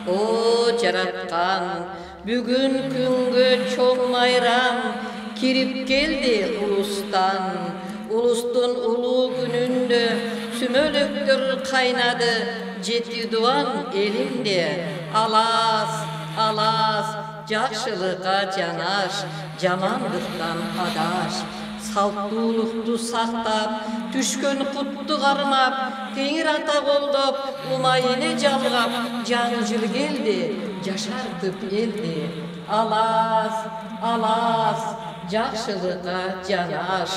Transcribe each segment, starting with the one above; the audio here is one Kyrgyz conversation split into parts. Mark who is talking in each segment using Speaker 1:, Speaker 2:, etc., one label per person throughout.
Speaker 1: О жараткан, бүгүн күнгө чоң майрам кирип келди улустан. Улустун улуу күнүндө сүмөлөктөр кайнады, жети дубан элимде. Алас, алас, жакшылыкка жанаш, жамандыктан адаш. Салттуулукту сактап, түшкөн кутту кармап, Теңир ата колдоп, умайыны жалгап, жаңы жыл келди, жашартып элди. Алас, алас, жакшылыкка жанаш.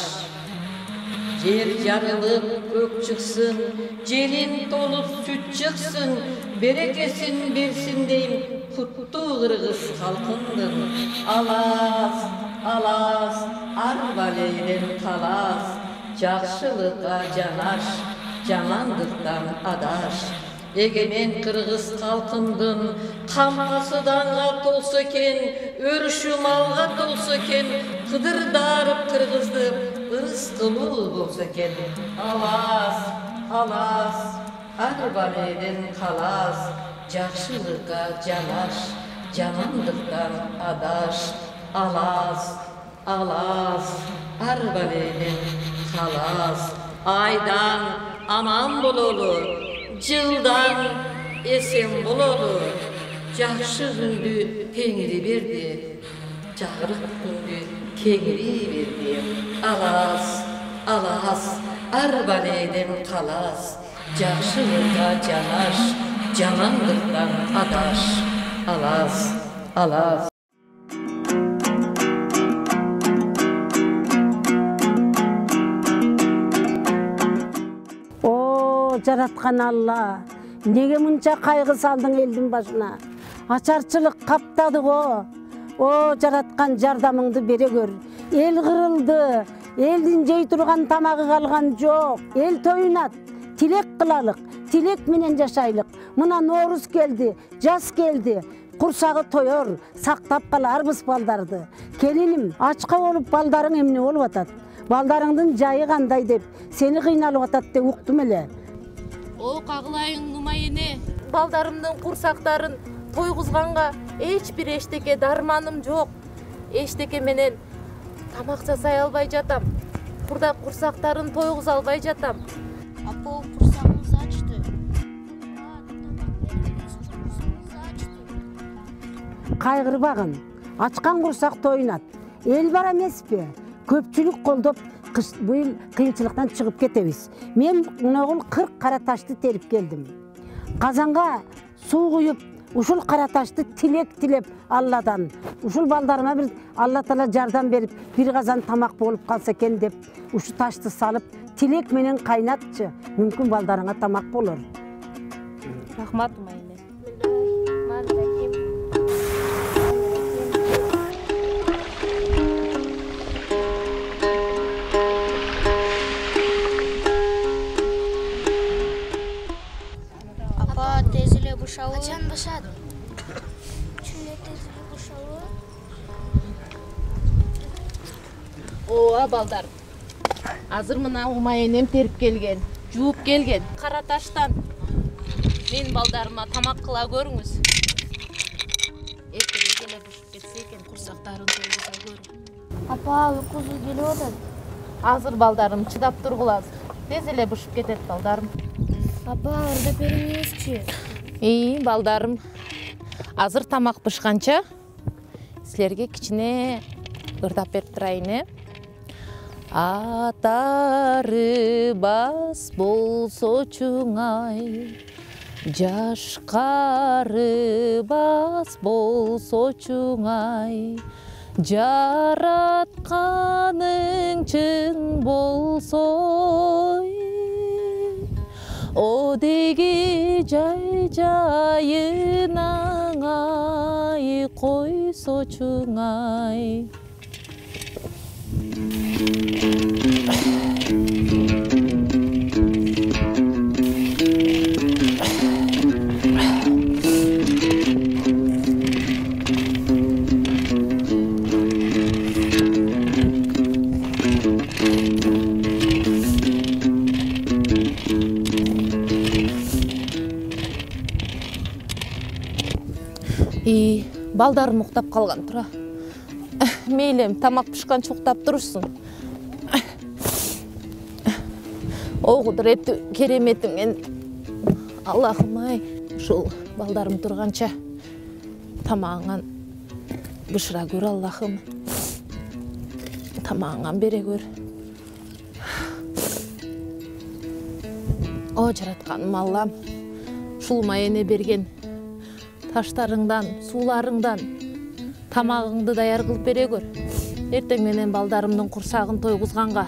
Speaker 1: Жер жарылып көк чыксын, желин толуп сүт чыксын, берекесин берсин дейм, куттуу кыргыз калкымдын. Алас, алас, арбалейден талас, жакшылыкка жанаш, жамандыктан адаш. Эгемен кыргыз калкымдын камасы данга толсо экен, өрүшү малга толсо экен, кыдырдарып кыргызды ырыс кылуу болсо экен. Алас, алас, арбалейден талас, жакшылыкка жанаш, жамандыктан адаш. Алас, алас, арбалейден талас. Айдан аман бололу, жылдан эсен бололу. Жакшы күндү Теңири берди, жагырык күндү Кеңири берди. Алас, алас, арбалейден талас, жакшылыкка жанаш, жамандыктан адаш. Алас, алас.
Speaker 2: Жараткан Алла, неге мынча кайгы салдың элдин башына? Ачарчылык каптады го. О жараткан, жардамыңды бере көр. Эл кырылды, элдин жей турган тамагы калган жок. Эл тоюнат, тилек кылалык, тилек менен жашайлык. Мына Норуз келди, жаз келди. Курсагы тоyor, сактап каларбыз балдарды. Келиним, ачка болуп балдарың эмне болуп атат? Балдарыңдын жайы кандай деп, сени кыйналып атат деп уктум эле.
Speaker 3: О кагылайың нумайыне, балдарымдын курсактарын тойгузганга эч бир эчтеке дарманым жок. Эчтеке менен тамак жасай албай жатам. Курдак курсактарын тойгуза албай жатам.
Speaker 4: Апа, курсагыңыз ачты.
Speaker 2: Кайгырбагын, ачкан курсак тоюнат. Эл бар эмеспи? Көпчүлүк колдоп быйыл кыйынчылыктан чыгып кетебиз. Мен могул 40 кара ташты терип келдим. Казанга суу куюп, ушул кара ташты тилек тилеп Алладан, ушул балдарыма бир Алла Таала жардам берип, бир казан тамак болуп калса экен деп, ушу ташты салып, тилек менен кайнатчы. Мүмкүн балдарыңа тамак болор.
Speaker 3: Рахмат умайыне.
Speaker 4: Качан башат? Чүнө тезиле бушабы?
Speaker 3: Ооба балдар. Азыр мына умайынем терип келген, жууп келген. Кара таштан мен балдарыма тамак кыла көрүңүз. Эртерээк эле бушуп кетсе экен, курсактарын тойгуза көрүң.
Speaker 4: Апа, уйкусу келип атат.
Speaker 3: Азыр балдарым чыдап тургулазы. Тез эле бушуп кетет балдарым.
Speaker 4: Апа, ырдап бериңизчи.
Speaker 3: Балдарым, азыр тамак бышканча силерге кичине ырдап берип турайын. Атары бас болсо чуңай, жашкары бас болсо чуңай, жаратканың чын болсо, о деги жай жайынан ай койсо чуңай. Балдарым уктап калган, тура. Мейлем, тамак пишканча уктап турушсун. О кудуреттүү кереметиңен Аллахым ай, ушул балдарым турганча тамагыңан бышыра көр Аллахым. Тамагыңан бере көр. О жаратканым Аллам, ушул майене берген таштарыңдан, сууларыңдан тамагыңды даяр кылып бере көр. Эртең менен балдарымдын курсагын тойгузганга,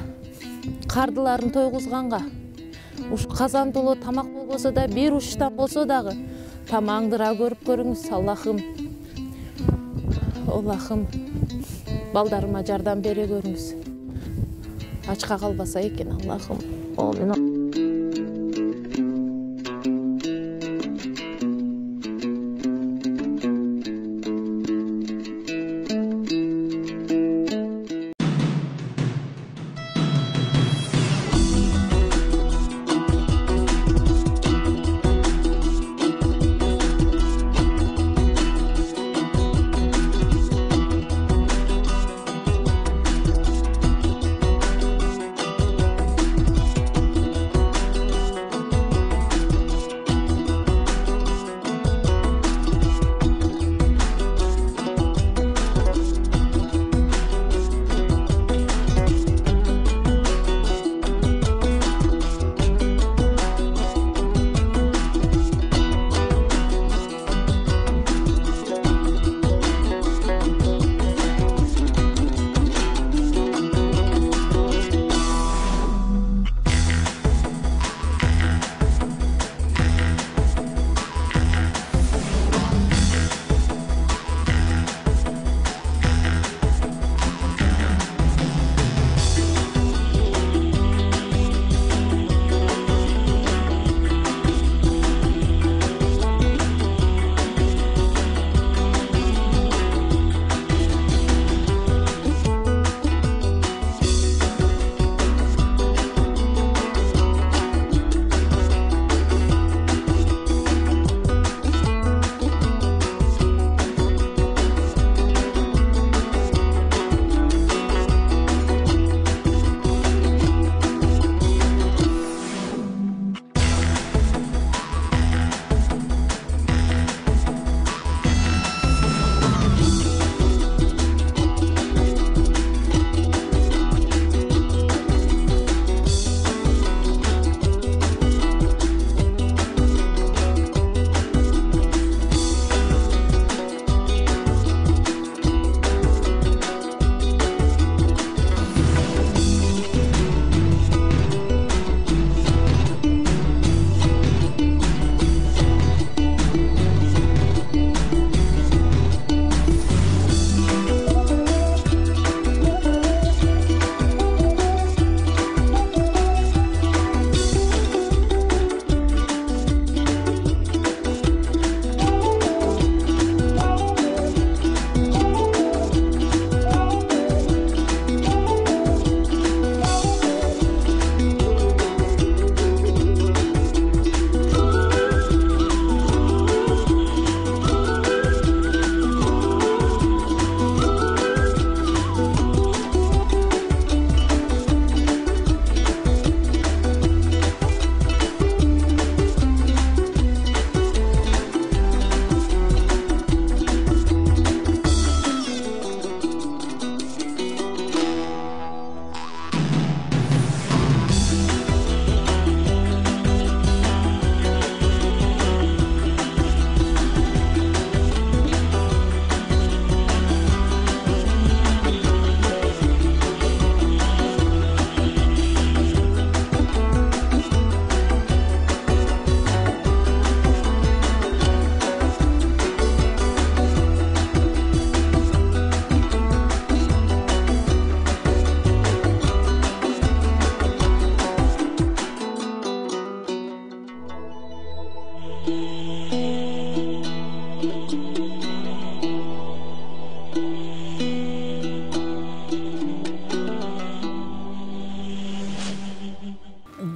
Speaker 3: кардыларын тойгузганга, уш казан толо тамак болбосо да, бир уштан болсо дагы тамагыңдыра көрүп көрүңүз Аллахым. Аллахым, балдарыма жардам бере көрүңүз. Ачка калбаса экен Аллахым. Амин.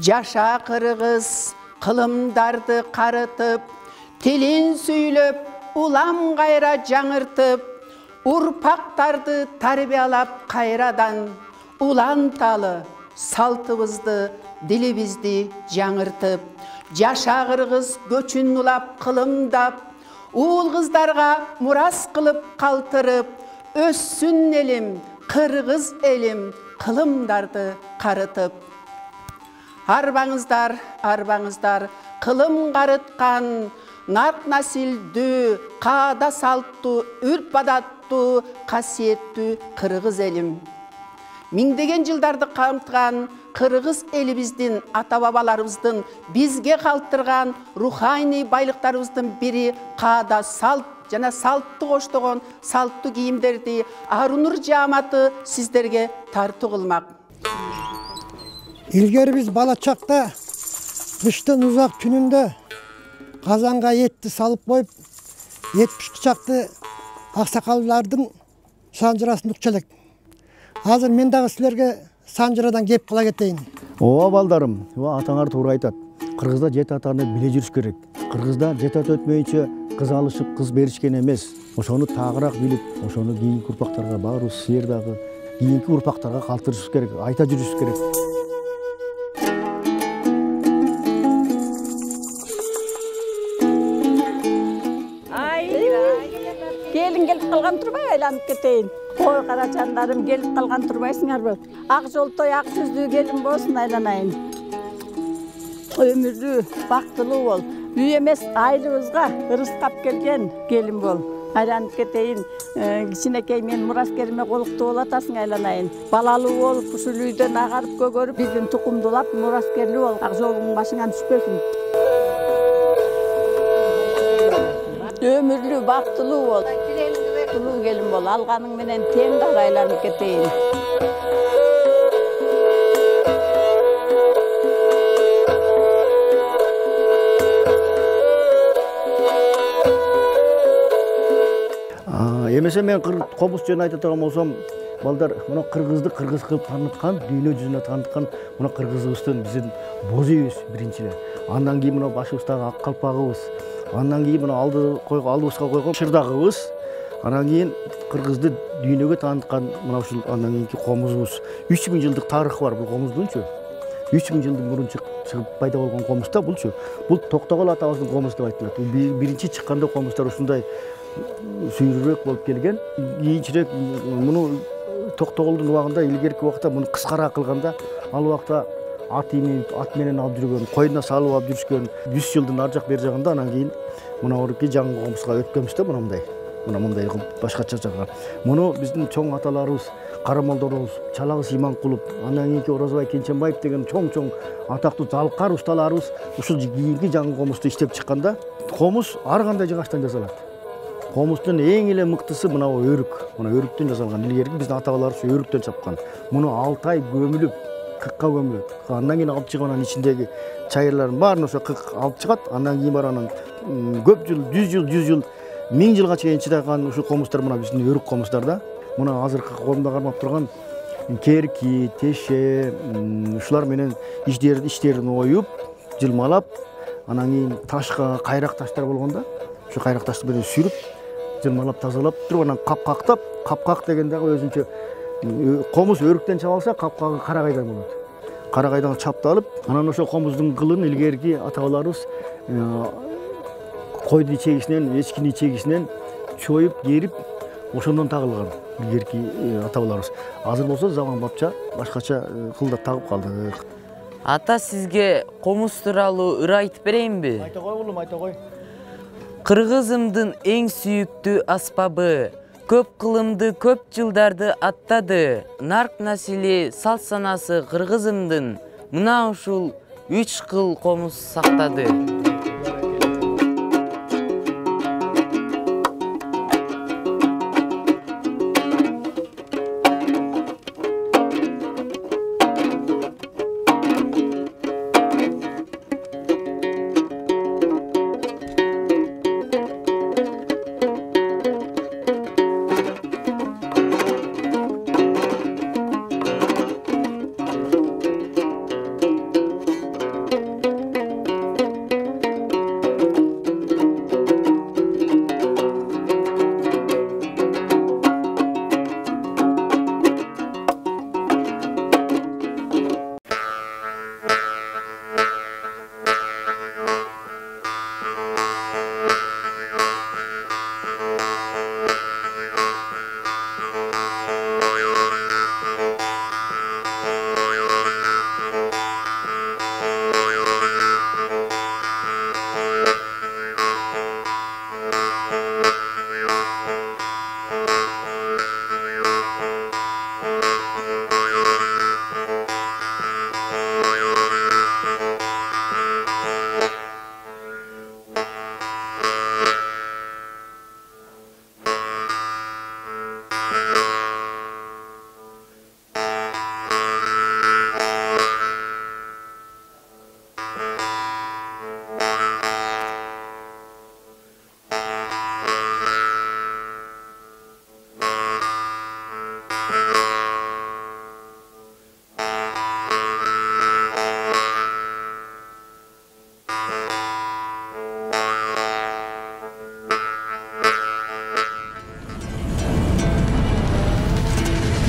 Speaker 5: Жаша кыргыз кылымдарды карытып, тилин сүйлөп улам кайра жаңыртып, урпактарды тарбиялап кайрадан, уланталы салтыбызды, дилибизди жаңыртып, жаша кыргыз көчүн улап кылымдап, уул кыздарга мурас кылып калтырып, өссүн элим, кыргыз элим, кылымдарды карытып. Арбаңыздар, арбаңыздар, кылым карыткан, нарк насилдүү, каада салттуу, үрп адаттуу, касиеттүү кыргыз элим. Миңдеген жылдарды камтыган кыргыз элибиздин ата-бабаларыбыздын бизге калтырган руханий байлыктарыбыздын бири каада салт жана салтты коштогон салттуу кийимдерди Арунур жааматы сиздерге тартуу кылмак.
Speaker 6: Илгери биз бала чакта кыштын узак түнүндө казанга этти салып коюп, эт пышкычакты аксакалдардын санжырасын укча элек. Азыр мен дагы силерге санжырадан кеп кыла кетейин.
Speaker 7: Ооба балдарым, атаңар туура айтат. Кыргызда жет атаны биле жүрүш керек. Кыргызда жет ата өтмөйүнчө кыз алышып, кыз беришкен эмес. Ошону тагыраак билип, ошону кийинки урпактарга баарыбыз силер дагы кийинки урпактарга калтырышыбыз керек, айта жүрүшүбүз керек.
Speaker 2: Келин келип калган турбай, айланып кетейин. Ой карачандарым, келип калган турбайсыңарбы? Ак жолтой, ак жүздүү келин болсун, айланайын. Өмүрдүү, бактылуу бол. Үй эмес айылыбызга ырыскап келген келин бол. Айланып кетейин. Кичинекей мен мураскериме колуктуу болатасың, айланайын. Балалуу болуп, ушул үйдөн агарып көгөрүп, биздин тукумдулап мураскерлүү бол. Ак жолуң башыңан түшпөсүн. Өмүрлүү, бактылуу бол. Бактылуу келин бол. Алганың менен тең кара, айланып кетейин.
Speaker 7: Эмесе мен комуз жөнүндө айта турган болсом, балдар, мына кыргызды кыргыз кылып тааныткан, дүйнө жүзүнө тааныткан мына кыргызыбыздын биздин боз үйүбүз биринчи эле. Андан кийин мына башыбыздагы ак калпагыбыз, андан кийин мына алдыбызга койгон шырдагыбыз, андан кийин кыргызды дүйнөгө тааныткан мына ушул андан кийинки комузубуз. 3000 жылдык тарыхы бар бул комуздунчу. 3000 жылдын мурун чыгып пайда болгон комуз да булчу. Бул Токтогул атабыздын комузу деп айтылат. Бул биринчи чыкканда комуздар ушундай сүйрүрөөк болуп келген. Кийинчерээк муну Токтогулдун убагында, илгерки убакта муну кыскараак кылганда, ал убакта ат менен алып жүргөн, койуна салып алып жүрүшкөн. 100 жылдын ар жак бер жагында анан кийин мына орки жаңы комузга өткөнбүз да мындай. Мына мындай башкача жагга. Муну биздин чоң аталарыбыз, карамолдорубуз, Чалагыз Иманкулов, андан кийинки Оразбай Кенченбаев деген чоң атактуу залкар усталарыбыз ушул кийинки жаңы комузду иштеп чыкканда, комуз ар кандай жыгачтан жасалат. Комуздун эң эле мыктысы мына өрүк. Мына өрүктөн жасалган. Илгерки биздин ата-бабаларыбыз өрүктөн чапкан. Муну 6 ай көмүлүп, кыкка көмүлөт. Андан кийин алып чыгып анан ичиндеги чайырларын баарын ошо кык алып чыгат. Андан кийин бар анан көп жыл, 100 жыл, 1000 жылга чейин чыдаган ушул комуздар мына биздин өрүк комуздар да. Муна азыркы колумда кармап турган керки, теше, ушулар менен иштерин оюп, жылмалап, анан кийин ташка кайрак таштар болгондо, ошо кайрак ташты менен сүрүп, жылмалап тазалап туруп анан капкактап, капкак деген дагы өзүнчө комуз өрүктөн чабалса, капкагы карагайдан болот. Карагайдан чапталып, анан ошо комуздун кылын илгерки ата-бабаларыбыз койдун ичегисинен, эчкинин ичегисинен чоюп, керип, ошондон тагылган илгерки ата-бабаларыбыз. Азыр болсо заман бапча башкача кылдап тагып калдык.
Speaker 8: Ата, сизге комуз тууралуу ыр айтып берейинби?
Speaker 7: Айта кой улум, айта кой.
Speaker 8: Кыргызымдын эң сүйүктүү аспабы, көп кылымды көп жылдарды аттады. Нарк насили салт санасы кыргызымдын мына ушул 3 кыл комуз сактады.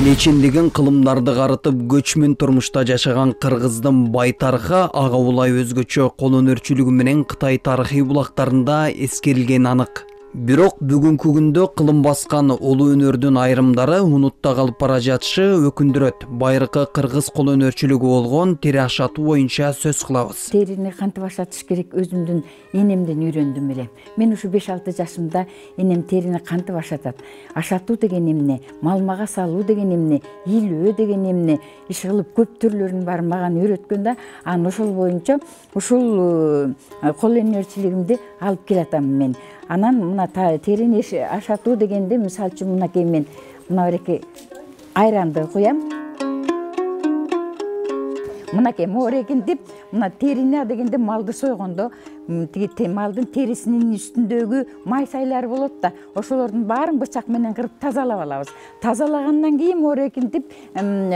Speaker 9: Нечендеген кылымдарды карытып көчмөн турмушта жашаган кыргыздын бай тарыхы ага улай өзгөчө кол өнөрчүлүгү менен Кытай тарыхый булактарында эскерилгени анык. Бирок бүгүнкү күндө кылым баскан улуу өнөрдүн айрымдары унутта калып бара жатышы өкүндүрөт. Байыркы кыргыз кол өнөрчүлүгү болгон тери ашатуу боюнча сөз кылабыз.
Speaker 10: Терини кантип ашатыш керек өзүмдүн энемден үйрөндүм эле. Мен ушу 5-6 жашымда энем терини кантип ашатат. Ашатуу деген эмне, малмага салуу деген эмне, илөө деген эмне, иш кылып көп түрлөрүн бар мага үйрөткөн да, анан ошол боюнча ушул кол өнөрчүлүгүмдү алып келатам мен. Анан мына терини ашатуу дегенде мисалы үчүн мынакей мен мына береки айранды куям. Мынакей моорекинтип, мына терини дегенде малды сойгондо тиги малдын терисинин үстүндөгү майсайлар болот да, ошолордун баарын бычак менен кырып тазалап алабыз. Тазалагандан кийин моорекинтип,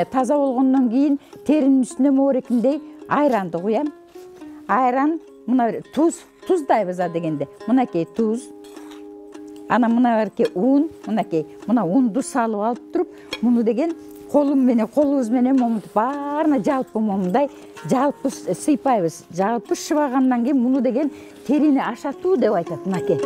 Speaker 10: таза болгондон кийин теринин үстүнө моорекиндей айранды куям. Айран, мына туздайбыз дегенде. Мынакей туз. Анан мына берки ун, мынакей. Мына унду салып алып туруп, муну деген колубуз менен момунтип баарына жалпы момундай жалпы сыйпайбыз. Жалпы шыбагандан кийин муну деген терини ашатуу деп айтат мынакей.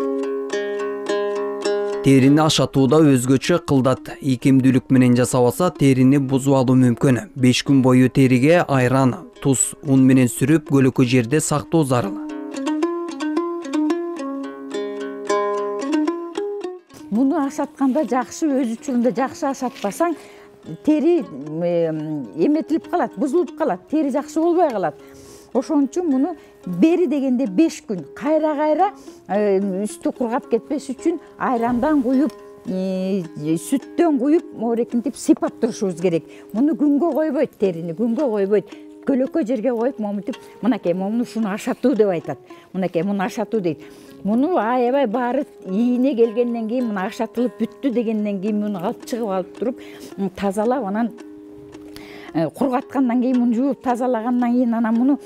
Speaker 9: Терини ашатууда өзгөчө кылдат. Ийкемдүүлүк менен жасабаса терини бузуп алуу мүмкүн. 5 күн бою териге айран, туз, ун менен сүрүп көлөкө жерде сактоо зарыл.
Speaker 10: Муну ашатканда жакшы, өз учурунда жакшы ашатпасаң, тери эметилип калат, бузулуп калат, тери жакшы болбой калат. Ошон үчүн муну бери дегенде 5 күн кайра үстү кургап кетпес үчүн айрандан куюп, сүттөн куюп, моорекинтип сыйпап турушубуз керек. Муну күнгө койбойт, терини күнгө койбойт. Көлөкө жерге коюп, момунтип, мынакей, муну ушуну ашатуу деп айтат. Мынакей, муну ашатуу дейт. Муну аябай баары ийине келгенден кийин, муну ашатылып бүттү дегенден кийин муну алып чыгып алып туруп, тазалап, анан кургаткандан кийин муну жууп тазалагандан кийин анан муну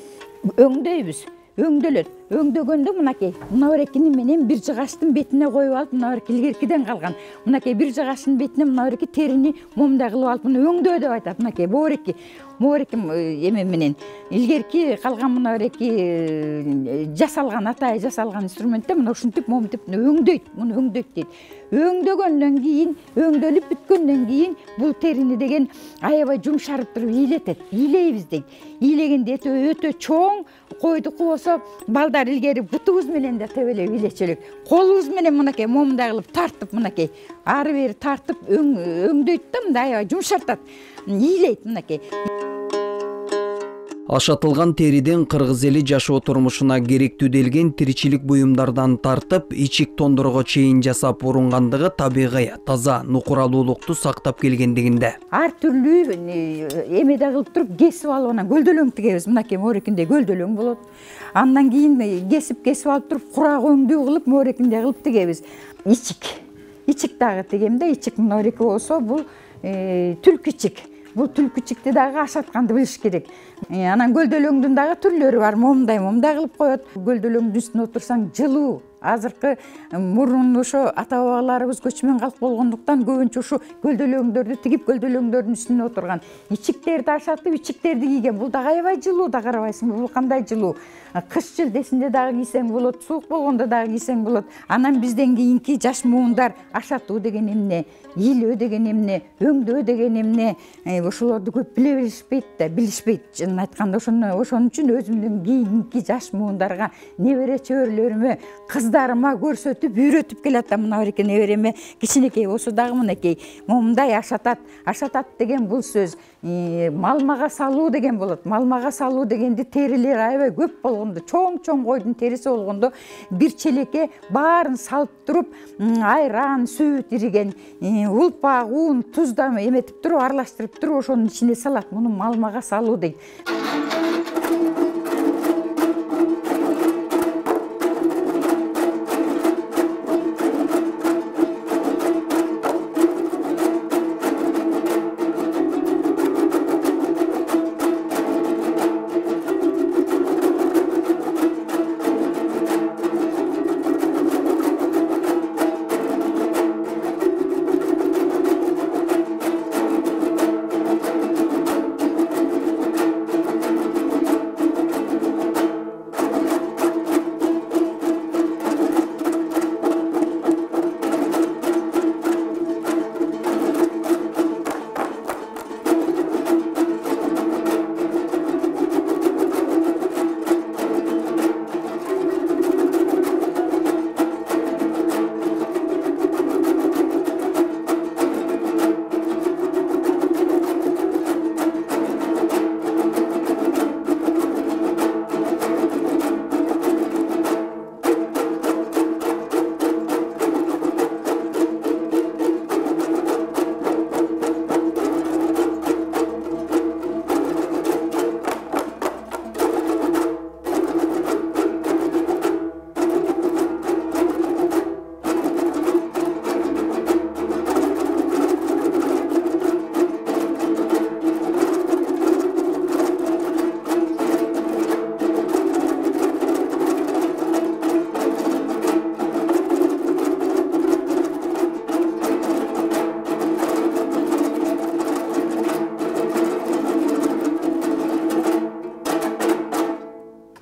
Speaker 10: өңдөйбүз. Өңдөлөт. Өңдөгөндө мынакей, мына берекини менен бир жыгачтын бетине коюп алып, мына береки илгеркиден калган. Мынакей бир жыгачтын бетине мына береки терини момундай кылып алып, муну өңдөө деп айтат. Мынакей моореки эме менен илгерки калган мына береки жасалган, атайы жасалган инструментте мына ушинтип момунтип өңдөйт, муну өңдөйт дейт. Өңдөгөндөн кийин, өңдөлүп бүткөндөн кийин бул терини деген аябай жумшарып туруп ийлетет. Ийлейбиз дейт. Ийлегенде өтө чоң койдуку болсо балдар илгери бутубуз менен да тебелеп ийлечелик. Колубуз менен мынакей момундай кылып тартып, мынакей ары бери тартып өңдөйт да, мындай аябай жумшартат. Ийлейт мынакей.
Speaker 9: Ашатылган териден кыргыз эли жашоо турмушуна керектүү делген тиричилик буюмдардан тартып, ичик тондорго чейин жасап урунгандыгы табигый, таза, нукуралуулукту сактап келгендигинде.
Speaker 10: Ар түрлүү эмеде кылып туруп кесип алып анан гөлдөлөң тигебиз. Мынакей моорекинде гөлдөлөң болот. Андан кийин кесип алып туруп курак өңдүү кылып моорекинде кылып тигебиз. Ичик дагы тигем да, ичик мына береки болсо бул түлкүчик. Бул түлкүчикти дагы ашатканды билиш керек. Анан гөлдөлөңдүн дагы түрлөрү бар. Момундай кылып коет. Гөлдөлөңдүн үстүнө отурсаң жылуу. Азыркы мурун ошо ата-бабаларыбыз көчмөн калк болгондуктан көбүнчө ушу гөлдөлөңдөрдү тигип, гөлдөлөңдөрдүн үстүнө отурган. Ичиктерди ашатып, ичиктерди кийген. Бул дагы аябай жылуу да, карабайсыңбы? Бул кандай жылуу. Кыш жылдесинде дагы кийсең болот, суук болгондо дагы кийсең болот. Анан бизден кийинки жаш муундар ашатуу деген эмне, илөө деген эмне, өңдөө деген эмне, ошолорду көп биле беришпейт да, билишпейт. Чынын айтканда ошон үчүн өзүмдүн кийинки жаш муундарга, небере чөбөрөлөрүмө, кыздарыма көрсөтүп, үйрөтүп келатам. Мына береки небереме кичинекей болсо дагы мынакей момундай ашатат. Ашатат деген бул сөз малмага салуу деген болот. Малмага салуу дегенди терилер аябай көп болгондо, чоң койдун териси болгондо бир челекке баарын салып туруп, айран, сүт ириген, улпак, ун, тузда эметип туруп, аралаштырып туруп, ошонун ичине салат. Муну малмага салуу дейт.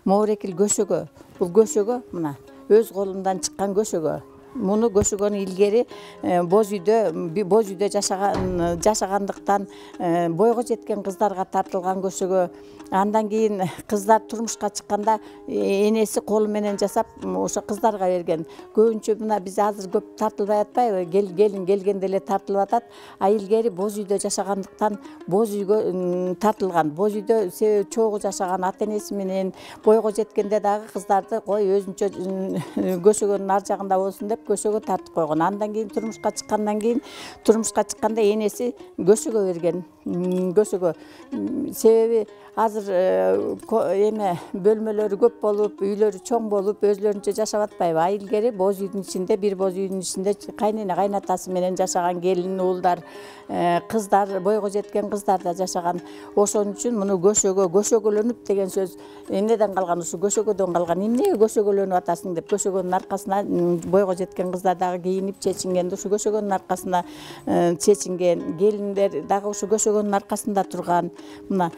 Speaker 11: моорекил көшөгө. Бул көшөгө мына өз колумдан чыккан көшөгө. Муну көшөгөнү илгери боз үйдө жашагандыктан бойго жеткен кыздарга тартылган көшөгө. Андан кийин кыздар турмушка чыкканда энеси колу менен жасап ошо кыздарга берген. Көбүнчө мына биз азыр көп тартылбай атпайбы? Келин келгенде эле тартылып атат. А илгери боз үйдө жашагандыктан боз үйгө тартылган. Боз үйдө себеби чогуу жашаган ата энеси менен бойго жеткенде дагы кыздарды кой өзүнчө көшөгөнүн ар жагында болсун деп көшөгө тартып койгон. Андан кийин турмушка чыкканда энеси көшөгө берген. Көшөгө себеби азыр бөлмөлөрү көп болуп, үйлөрү чоң болуп, өзлөрүнчө жашап атпайбы? А илгери боз үйдүн ичинде, бир боз үйдүн ичинде кайнене кайнатасы менен жашаган келин уулдар, кыздар, бойго жеткен кыздар да жашаган. Ошон үчүн муну көшөгөлөнүп деген сөз эмнеден калган? Ушу көшөгөдөн калган. Эмнеге көшөгөлөнүп атасың деп көшөгөнүн аркасына бойго жеткен кыздар дагы кийинип чечинген. Ушу көшөгөнүн аркасына чечинген. Келиндер дагы ушу көшөгөнүн аркасында турган. Мына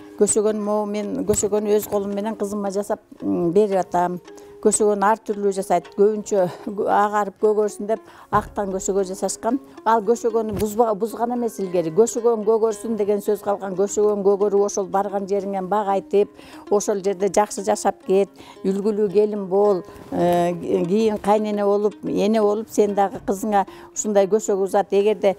Speaker 11: мен көшөгөнү өз колум менен кызыма жасап берип атам. Көшөгөнү ар түрлүү жасайт. Көбүнчө агарып көгөрсүн деп актан көшөгө жасашкан. Ал көшөгөнү бузган эмес илгери. Көшөгөн көгөрсүн деген сөз калган. Көшөгөн көгөрүп ошол барган жериңен бак айтып, ошол жерде жакшы жашап кет, үлгүлүү келин бол, кийин кайнене болуп, эне болуп, сен дагы кызыңа ушундай көшөгө узат. Эгерде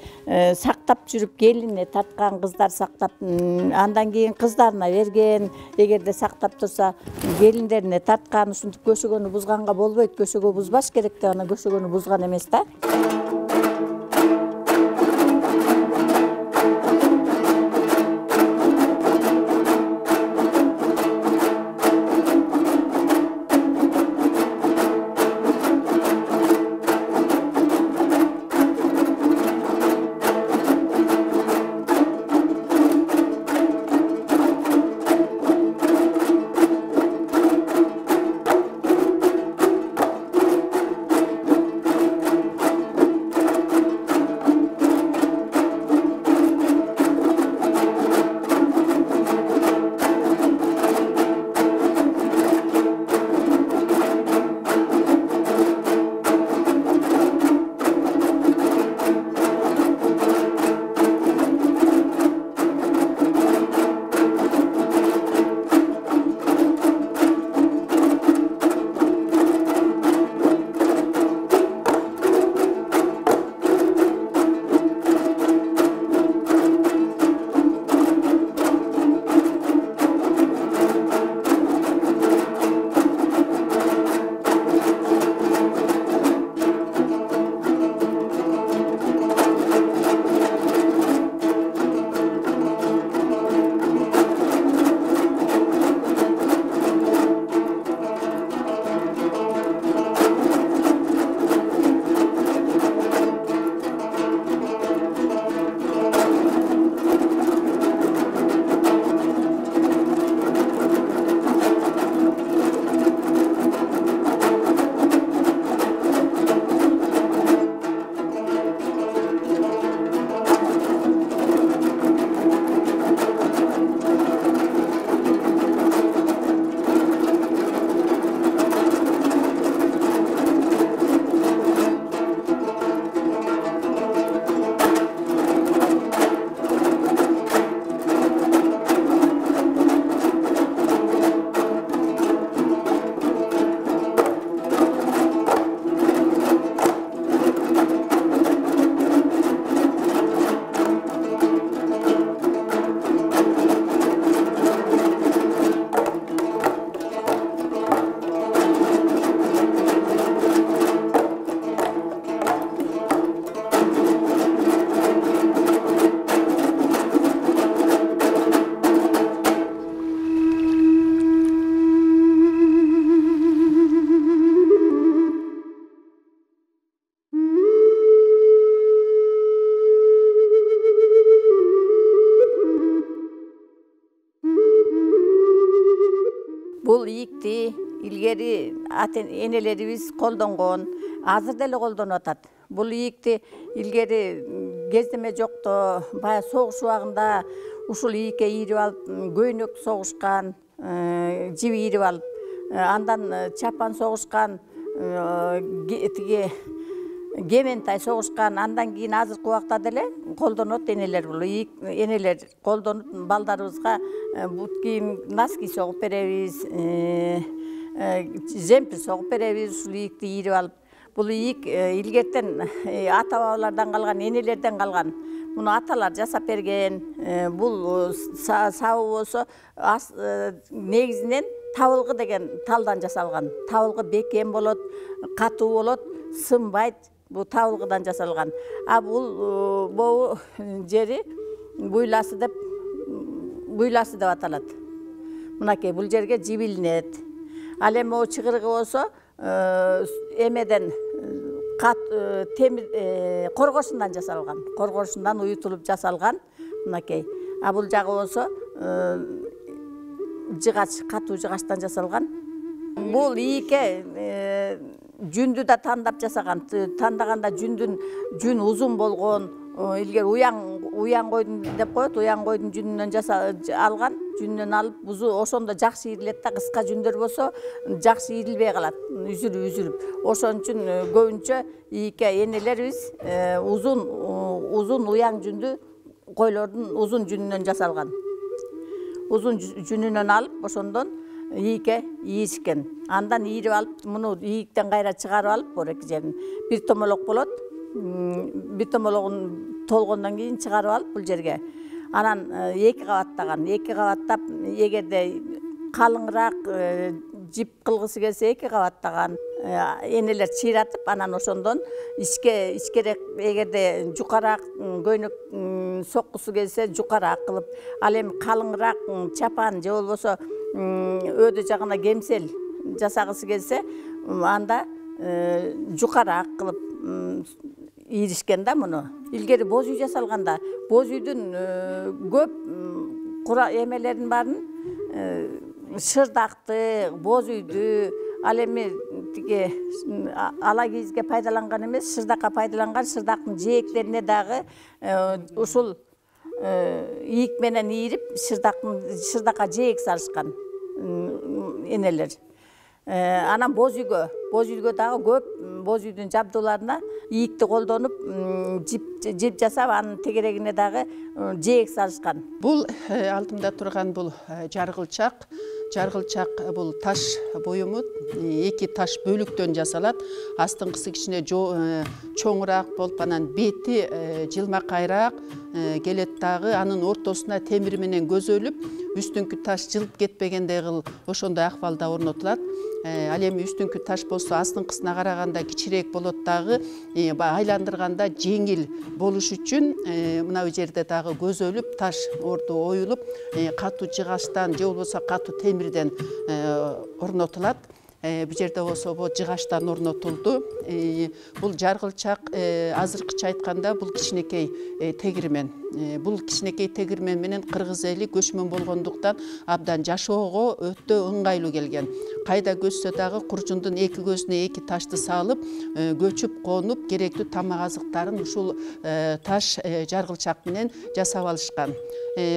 Speaker 11: сактап жүрүп келине тарткан кыздар сактап, андан кийин кыздарына берген, эгерде сактап турса, келиндерине тарткан, ушинтип көшөгөнү бузганга болбойт. Көшөгө бузбаш керек деп ана көшөгөнү бузган эмес да. Бул ийикти илгери энелерибиз колдонгон, азыр деле колдонуп атат. Бул ийикти илгери кездеме жокто, баягы согуш убагында ушул ийикке ийирип алып, көйнөк согушкан, жип ийирип алып, андан чапан согушкан, тиги кементай согушкан, андан кийин азыркы убакта деле колдонот энелер, бул энелер колдонуп балдарыбызга бут кийим, носки согуп беребиз, жемпир согуп беребиз, ушул ийикти ийирип алып. Бул ийик илгертен ата бабалардан калган, энелерден калган. Муну аталар жасап берген. Бул сабы болсо негизинен табылгы деген талдан жасалган. Табылгы бекем болот, катуу болот, сынбайт. Бул табылгыдан жасалган. А бул могу жери буйласы деп аталат. Мынакей бул жерге жибилинет. Ал эми могу чыгыргы болсо эмеден темир коргошундан жасалган. Коргошундан уютулуп жасалган. Мынакей. А бул жагы болсо жыгач, катуу жыгачтан жасалган. Бул ийикке жүндү да тандап жасаган. Тандаганда жүн узун болгон, илгери уяң койдун деп коет, уяң койдун жүнүнөн алган. Жүнүнөн алып, бузу ошондо жакшы ийрилет да, кыска жүндөр болсо жакшы ийрилбей калат, үзүлүп. Ошон үчүн көбүнчө ийикке энелерибиз узун уяң жүндү койлордун узун жүнүнөн жасалган. Узун жүнүнөн алып, ошондон ийикке ийишкен. Андан ийирип алып, муну ийиктен кайра чыгарып алып, бореки жерин бир томолок болот. Бир томологун толгондон кийин чыгарып алып бул жерге. Анан эки кабаттап, эгерде калыңыраак жип кылгысы келсе эки кабаттаган энелер чыйратып, анан ошондон ичкерээк, эгерде жукараак көйнөк соккусу келсе жукараак кылып, ал эми калыңыраак чапан же болбосо өдө жагына кемсел жасагысы келсе, анда жукараак кылып ийришкен да муну. Илгери боз үй жасалганда, боз үйдүн көп эмелерин баарын шырдакты, боз үйдү, ал эми тиги ала кийизге пайдаланган эмес, шырдакка пайдаланган, шырдактын жээктерине дагы ушул ийик менен ийирип, шырдакка жээк салышкан энелер. Анан боз үйгө дагы көп боз үйдүн жабдууларына ийикти колдонуп, жип жасап, анын тегерегине дагы жээк салышкан.
Speaker 5: Бул алдымда турган бул жаргылчак. Жаргылчак бул таш буюму эки таш бөлүктөн жасалат. Астыңкысы кичине чоңураак болуп, анан бети жылмакайраак келет дагы. Анын ортосуна темир менен көзөлүп, үстүңкү таш жылып кетпегендей кылып, ошондой акыбалда орнотулат. Ал эми үстүңкү таш болсо астыңкысына караганда кичирээк болот дагы, айландырганда жеңил болуш үчүн мына бу жерде дагы көзөлүп, таш орду оюлуп, катуу жыгачтан же болбосо катуу темирден орнотулат. Бу жерде болсо бул жыгачтан орнотулду. Бул жаргылчак, азыркыча айтканда бул кичинекей тегирмен. Бул кичинекей тегирмен менен кыргыз эли көчмөн болгондуктан абдан жашоого өтө ыңгайлуу келген. Кайда көчсө дагы куржундун эки көзүнө эки ташты салып, көчүп конуп, керектүү тамак азыктарын ушул таш жаргылчак менен жасап алышкан.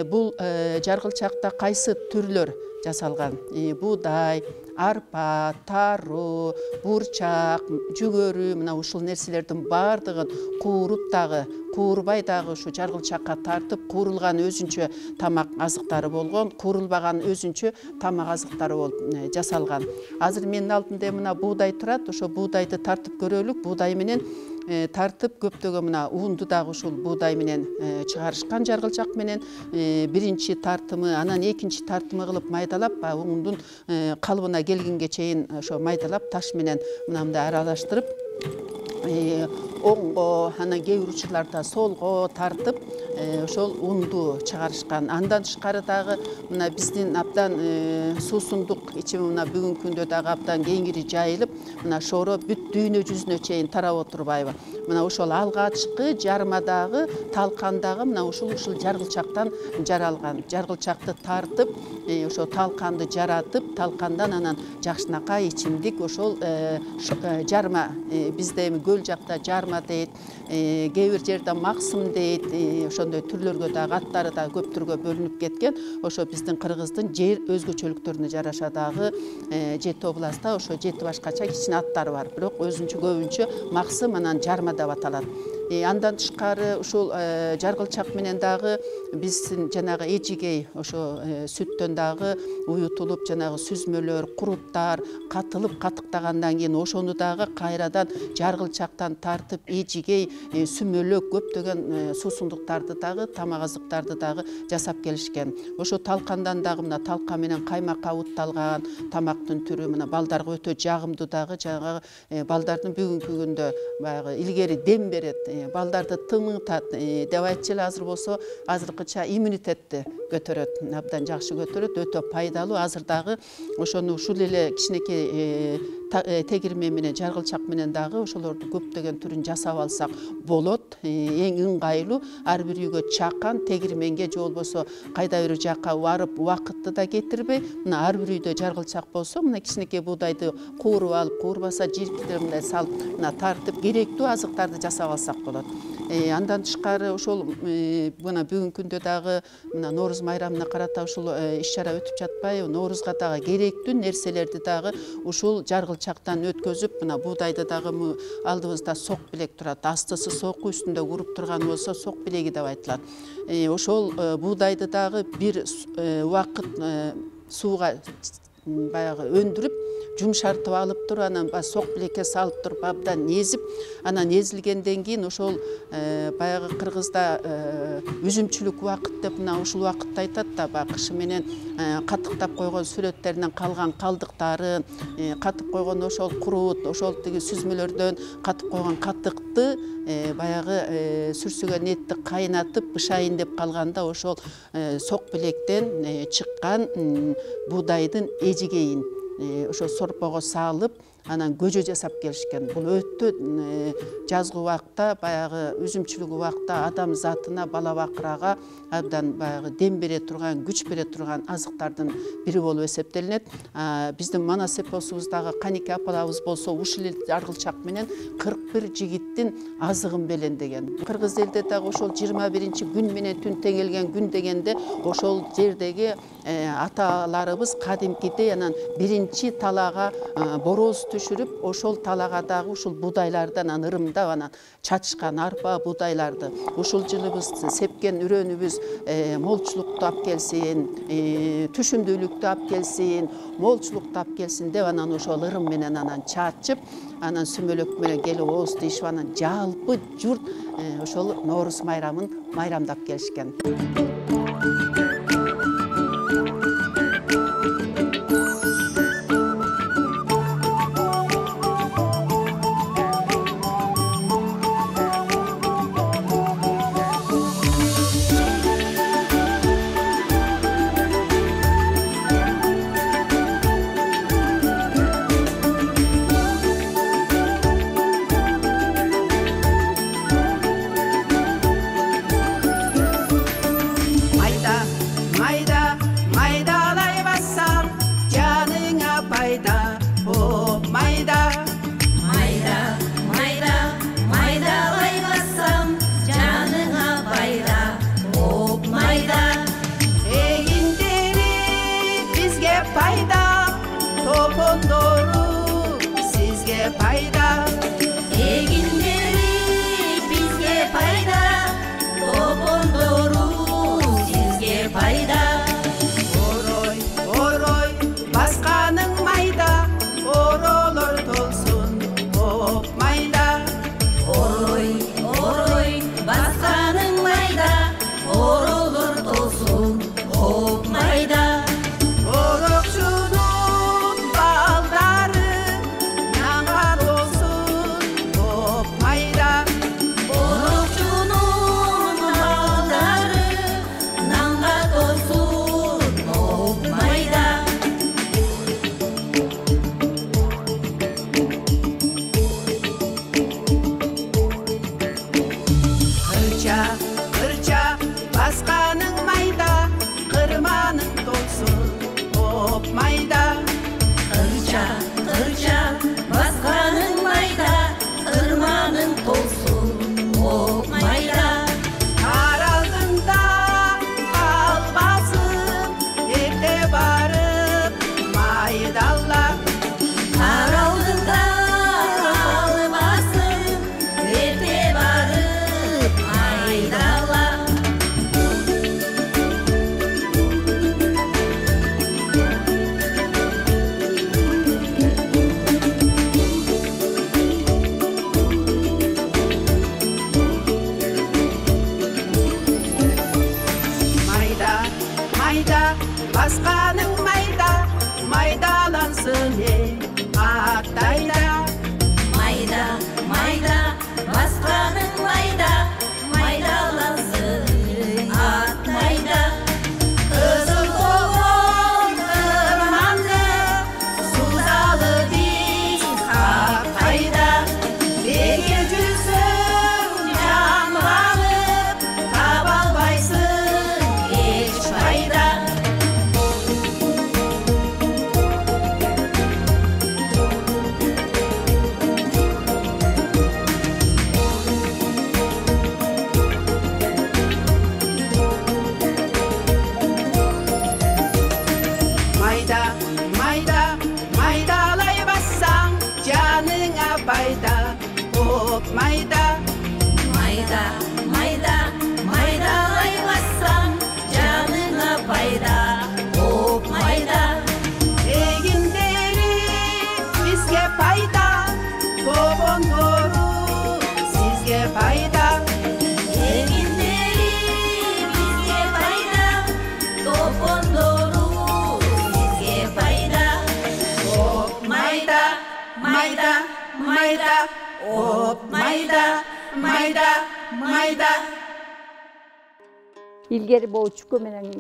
Speaker 5: Бул жаргылчакта кайсы түрлөр жасалган? Буудай, арпа, тару, бурчак, жүгөрү, мына ушул нерселердин баардыгын кууруп дагы, куурбай дагы ушу жаргылчакка тартып, куурулган өзүнчө тамак азыктары болгон, куурулбаган өзүнчө тамак азыктары болуп жасалган. Азыр менин алдымда мына буудай турат, ошо буудайды тартып көрөлүк. Буудай менен тартып көптөгөн мына уунду дагы ушул буудай менен чыгарышкан жаргылчак менен биринчи тартымы, анан экинчи тартымы кылып майдалап, уундун калыбына келгенге чейин ошо майдалап таш менен мындай аралаштырып, оңго, анан кээ бир учурларда солго тартып, ошол унду чыгарышкан. Андан тышкары дагы мына биздин абдан суусундук ичими мына бүгүнкү күндө дагы абдан кеңири жайылып, мына шоро бүт дүйнө жүзүнө чейин тарап отурбайбы. Мына ошол алгачкы жармадагы, талкандагы мына ушул жаргылчактан жаралган. Жаргылчакты тартып, ошо талканды жаратып, талкандан анан жакшынакай ичимдик ошол жарма, бизде эми көл жакта жарма жарма дейт, кээ бир жерде максым дейт, ошондой түрлөргө дагы аттары да көп түргө бөлүнүп кеткен. Ошо биздин Кыргыздын жер өзгөчөлүктөрүнө жараша дагы 7 областта ошо 7 башкача кичине аттары бар. Бирок өзүнчө көбүнчө максым анан жарма деп аталат. Андан тышкары ушул жаргылчак менен дагы биздин жанагы эжигей ошо сүттөн дагы уютулуп жанагы сүзмөлөр, куруттар катылып катыктагандан кийин ошону дагы кайрадан жаргылчактан тартып эжигей, сүмөлөк көптөгөн суусундуктарды дагы, тамак азыктарды дагы жасап келишкен. Ошо талкандан дагы мына талка менен каймакка бутталган тамактын түрү мына балдарга өтө жагымдуу дагы, жанагы балдардын бүгүнкү күндө баягы илгери дем берет, балдарды тыңытат деп айтчу эле. Азыр болсо азыркыча иммунитетти көтөрөт, абдан жакшы көтөрөт, өтө пайдалуу. Азыр дагы ошону ушул эле кичинекей тегирмен менен жаргылчак менен дагы ошолордун көптөгөн түрүн жасап алсак болот. Эң ыңгайлуу ар бир үйгө чакан тегирменге же болбосо кайда бир жака барып убакытты да кетирбей, мына ар бир үйдө жаргылчак болсо, мына кичинекей буудайды кууруп алып, куурбаса жиркитип мындай салып, мына тартып керектүү азыктарды жасап алсак болот. Андан тышкары ошол мына бүгүнкү күндө дагы мына Нооруз майрамына карата ушул иш-чара өтүп жатпайбы? Ноорузга дагы керектүү нерселерди дагы ушул жаргылчактан өткөзүп, мына буудайды дагы алдыбызда сок билек турат. Астысы соку, үстүндө уруп турган болсо сок билеги деп айтылат. Ошол буудайды дагы бир убакыт сууга баягы өндүрүп, жумшартып алып туруп, анан сок билекке салып туруп абдан езип, анан езилгенден кийин ошол баягы кыргызда үзүмчүлүк убакыт деп мына ушул убакытты айтат да, баягы кышы менен катыктап койгон сүрөттеринен калган калдыктарын, катып койгон ошол курут, ошол тиги сүзмөлөрдөн катып койгон катыкты баягы сүрсүгөн этти кайнатып бышайын деп калганда ошол сок билектен чыккан буудайдын эжигейин ошо сорпого салып, анан көжө жасап келишкен. Бул өтө жазгы убакта, баягы үзүмчүлүк убакта адам затына, бала бакырага абдан баягы дем бере турган, күч бере турган азыктардын бири болуп эсептелинет. Биздин Манас эпосубуздагы Канике апалабыз болсо ушул эле жаргылчак менен 41 жигиттин азыгын белендеген. Кыргыз элде дагы ошол 21 күн менен түн теңелген күн дегенде ошол жердеги аталарыбыз кадимкидей анан биринчи талаага бороз түшүрүп, ошол талаага дагы ушул буудайлардан ырымдап анан чачышкан арпа буудайларды. Ушул жылы биз сепкен үрөнүбүз молчулукту алып келсин, түшүмдүүлүктү алып келсин, молчулукту алып келсин деп анан ошол ырым менен анан чачып, анан сүмөлөк менен келип ооз тийишип, анан жалпы журт ошол Нооруз майрамын майрамдап келишкен. басканың майда, майдалансын атайда.
Speaker 1: Майда, майда, басқаның майда, майдалансын атайда. Қызыл толған ырманды, сузалы біз қайда. Берген жүрсің жанғанып, таба албайсың еш пайда.
Speaker 5: Майда, майда, майдалай бассаң, жаныңа пайда. Оп, майда.
Speaker 1: Майда, майда, майдалай бассаң, жаныңа пайда. Оп, майда.
Speaker 5: Эгиндери бизге пайда, тобондору сизге пайда.
Speaker 1: Эгиндери бизге пайда, топондору сизге пайда.
Speaker 5: Оп, майда, майда, майда. Оп, майда, майда, майда.
Speaker 11: Илгери могу чүкө менен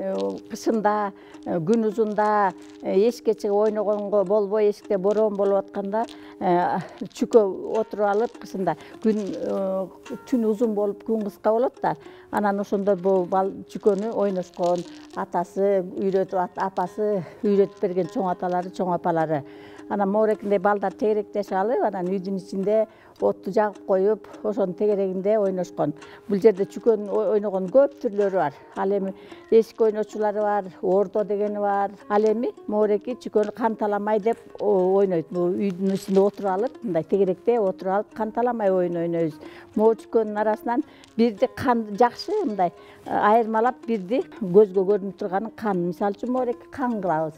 Speaker 11: кышында, күн узунда эшикке чыгып ойногонго болбой, эшикте бороон болуп атканда чүкө отуруп алып кышында түн узун болуп күн кыска болот да. Анан ошондо бул чүкөнү ойношкон атасы үйрөтүп, апасы үйрөтүп берген чоң аталары, чоң апалары. Анан моорекинде балдар тегеректешип алып, анан үйдүн ичинде отту жагып коюп, ошонун тегерегинде ойношкон. Бул жерде чүкөнүн ойногон көп түрлөрү бар. Ал эми эшик ойночулары бар, ордо дегени бар. Ал эми моореки чүкөнү канталамай деп ойнойт. Бул үйдүн ичинде отуруп алып, мындай тегеректе отуруп алып, канталамай ойнойбуз. Могу чүкөнүн арасынан бирди кан жакшы мындай айырмалап, бирди көзгө көрүнүп турганын кан. Мисалы үчүн моореки кан кылабыз.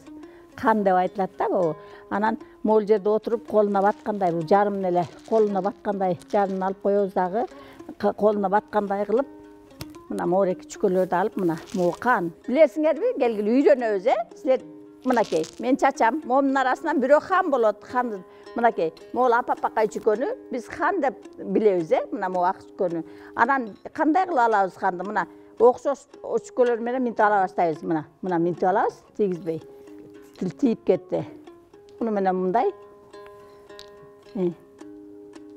Speaker 11: Кан деп айтылат да бул. Анан могул жерде отуруп колуна баткандай, бул жарымын эле колуна баткандай жарымын алып коебуз дагы, колуна баткандай кылып, мына моореки чүкөлөрдү алып, мына могу кан. Билесиңерби, келгиле үйрөнөбүз, Силер мынакей, мен чачам, момунун арасынан бирөө хан болот. Хан мынакей, могул апапакай чүкөнү биз хан деп билебиз, мына могу ак чүкөнү. Анан кандай кылып алабыз ханды? Мына окшош чүкөлөр менен минтип ала баштайбыз. Мына минтип алабыз, тийгизбей. Тиіп кетті. Мұны менен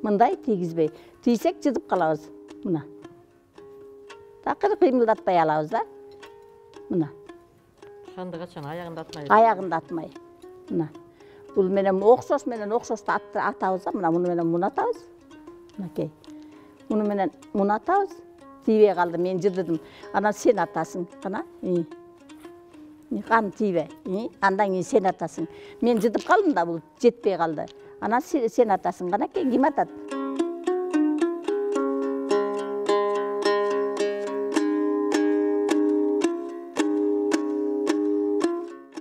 Speaker 11: мындай тийгизбей. Тийсек жыдып калабыз. Мына. Такыр кыймылдатпай алабыз да. Мына.
Speaker 1: Ханды качан аягында атмай.
Speaker 11: Аягында атмай. Мына. Бул менен окшош менен окшошту атабыз да. Мына муну менен муну атабыз. Мынакей. Муну менен муну атабыз. Тийбей калды, мен жыдыдым. Анан сен атасың. Кана. Қан тийбе. Андан кийин сен атасың. Мен жыдып калдым да, бул жетпей калды. Анан сен атасың. Канакей ким атат?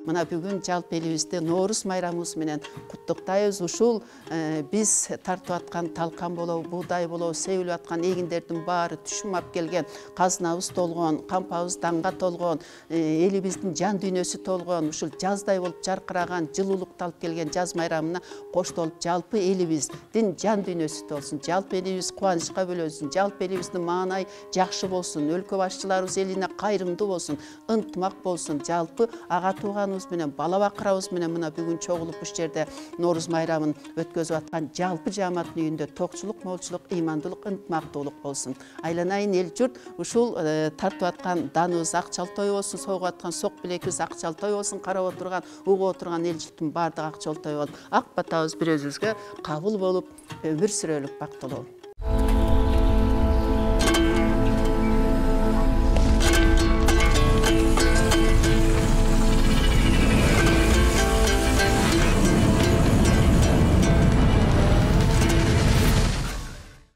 Speaker 5: Мына бүгүн жалпы элибизде Ноорус майрамыбыз менен куттуктайбыз. Ушул биз тартып аткан талкан болобу, буудай болобу, себилип аткан эгиндердин баары түшүм алып келген, казынабыз толгон, кампабыз даңга толгон, элибиздин жан дүйнөсү толгон, ушул жаздай болуп жаркыраган, жылуулукту алып келген жаз майрамына коштолуп жалпы элибиздин жан дүйнөсү толсун, жалпы элибиз кубанычка бөлөсүн, жалпы элибиздин маанай жакшы болсун, өлкө башчыларыбыз элине кайрымдуу болсун, ынтымак болсун, жалпы ага тууганыбыз менен, бала бакырабыз менен мына бүгүн чогулуп ушул жерде Ноорус майрамын өткөзүп аткан жалпы жааматтын үйүндө токчулук, молчулук, ыймандуулук, ынтымактуулук болсун. Айланайын эл журт ушул тартып аткан даныбыз акчал той болсун, согуп аткан сок билекибиз акчал той болсун, карап отурган, угуп отурган эл журттун баардыгы акчал той болуп, ак батабыз бири өзүбүзгө кабыл болуп, өмүр сүрөлүк, бактылуу.